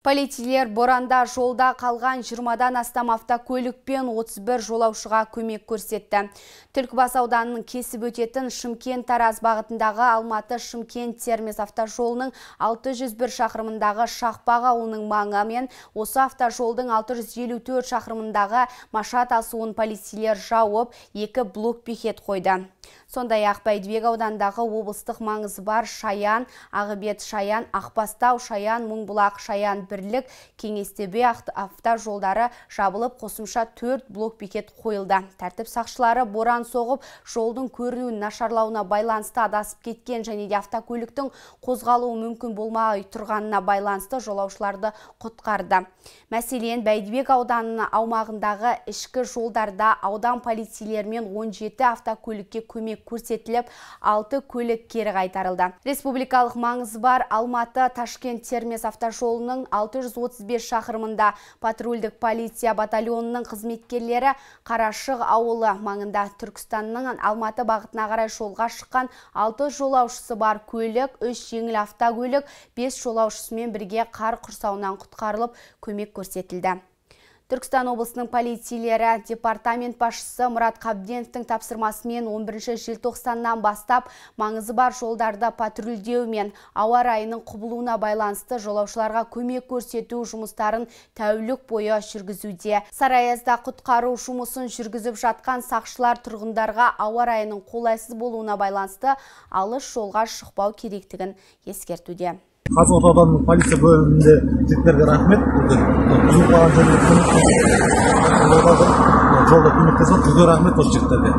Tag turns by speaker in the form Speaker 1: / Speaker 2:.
Speaker 1: Полицейлер боранда жолда қалған 20-дан астам автокөлік пен 31 жолаушыға көмек көрсетті. Түлкібас ауданының кесіп өтетін Шымкент-Тараз бағытындағы Алматы-Шымкент-Термез автожолының 601 шақырымындағы Шақпақ ауылының маңы мен осы автожолдың 654 шақырымындағы Машат асуын полицейлер жауып, 2 блок-бекет қойды. Сондай-ақ Бәйдібек аудандағы облыстық маңызы бар Шаян, Ағыбет Шаян, Ақбастау Шаян, Мұңбұлақ Шаян бірлік Кеңестебе автожолдары жабылып, қосымша 4 блок-бекет қойылды. Тәртіп сақшылары боран соғып, жолдың көрінуін нашарлауына байланысты адасып кеткен және де автокөліктің қозғалуы мүмкін болмай тұрғанына байланысты жолаушыларды құтқарды. Мәселен, Бәйдібек ауданының аумағындағы ішкі жолдарда аудан полицейлерімен 17 автокөлікке көмек көрсетіліп, 6 көлік кері қайтарылды. Республикалық маңызы бар Алматы-Ташкент-Термез автожолының 635 шақырымында патрульдік полиция батальонының қызметкерлері Қарашық ауылы маңында Түркістанның Алматы бағытына қарай жолға шыққан 6 жолаушысы бар көлік, 3 жеңіл автокөлік, 5 жолаушысымен бірге қар құрсауынан құтқарылып, көмек көрсетілді. Түркістан облысының полицейлері департамент басшысы Мұрат Қабденовтың тапсырмасымен 11 желтоқсаннан бастап маңызы бар жолдарда патрульдеу мен ауа райының құбылуына байланысты жолаушыларға көмек көрсету жұмыстарын тәулік бойы жүргізуде. Сарыаязда құтқару жұмысын жүргізіп жатқан сақшылар тұрғындарға ауа райының қолайсыз болуына байланысты алыс жолға шықпау керектігін ескертуде.
Speaker 2: Қазығұрт ауданының полиция бөлімінде жігіттерге рахмет. Жолда көмектесіп, рахмет осы жігіттерге.